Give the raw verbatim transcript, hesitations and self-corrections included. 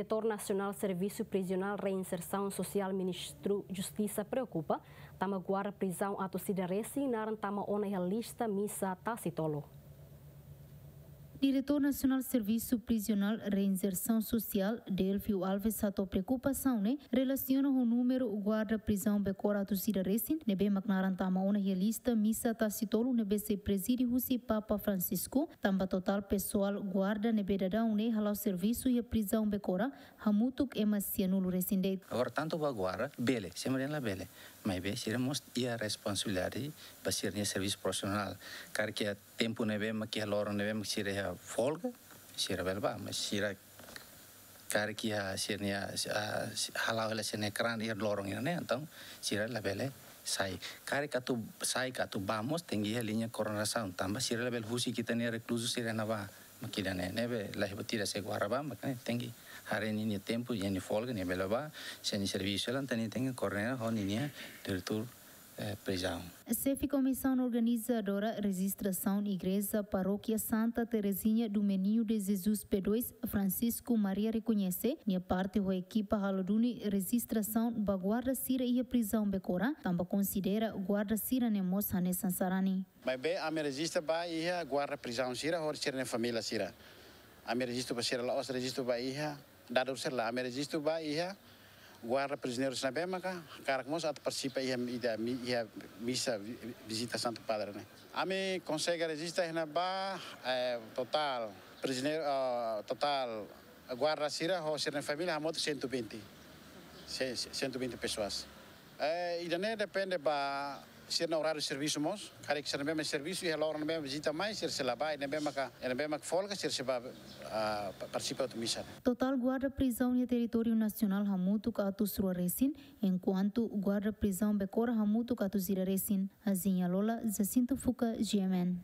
Diretór Nasionál Servisu Prizionál Reinsersaun Sosiál Ministériu Justisa preokupa tanba guarda prizaun atus ida resin naran tama ona iha lista misa Tasi-Tolu. Diretór Nasionál Servisu Prizionál Reinsersaun Sosiál, Delfio Alves, hato'o preokupasaun ne'e relasiona ho númeru guarda prizaun Becora atus ida resin ne'ebé mak naran tama ona iha lista misa Tasi-Tolu ne'ebé sei prezide husi Papa Francisco, tanba totál pesoál guarda ne'ebé daudaun ne'e hala'o servisu iha prizaun Becora hamutuk ema sianulu resin de'it. Agora, tantu ba guarda, bele, sira dehan labele. Maibé sira mós iha responsabilidade ba sira-nia servisu profisionál. Karik iha tempu ne'ebé mak iha loron ne'ebé mak sira iha folga, sira bele bá, mas sira karik iha sira-nia, ah, hala'o hela sira-nia keran iha loron ida-ne'e, entaun sira labele sai. Karik atu sai ka atu bá mós tenke iha liña koordenasaun, tanba sira labele husik ita-nia rekluzu sira iha ne'ebá. Mak ida-ne'e, ne'ebé la iha buat ida, se guarda bá, mak ne'e tenke haree ninia tempu, iha nia folga, nia bele bá, sira-nia servisu, entaun nia tenke koordena ho ninia diretór, eh, prizaun. Xefe Komisaun Organizadora Rejistrasaun Igreja Parókia Santa Terezinha do Menino de Jesus P dois, Francisco Maria, rekoñese nia parte ho ekipa halo duni rejistrasaun ba guarda sira iha prizaun Becora, tanba konsidera guarda sira-ne'e mós hanesan sarani. Maibé ami rejista ba iha guarda prizaun sira ho sira-nia família sira. Ami rejistu ba sira, la'ós rejistu ba iha dadus sira lae. Ami rejistu ba iha guarda prizioneiru sira ne'ebé maka hakarak mós atu partisipa iha, iha, iha misa vi-, vizita Santu Padre ne'e. Ami konsege rejista iha ne'ebá, eh, totál prizioneiru, ah, totál guarda sira ho sira-nia família hamutuk cento e vinte. Se-, se-, cento e vinte pessoas. Eh, ida-ne'e depende ba sira-nia oráriu servisu mós. Karik sira ne'ebé mak servisu iha loron ne'ebé mak vizita mai, sira sei la bá, ne'ebé maka, ne'ebé mak folga, sira sei bá, ah, pa-, partisipa hotu misa. Totál guarda prizaun iha territóriu nasionál hamutuk atus rua resin, enkuantu guarda prizaun Becora hamutuk atus ida resin. Azinha Lola, Jacinto Fuca, G M N.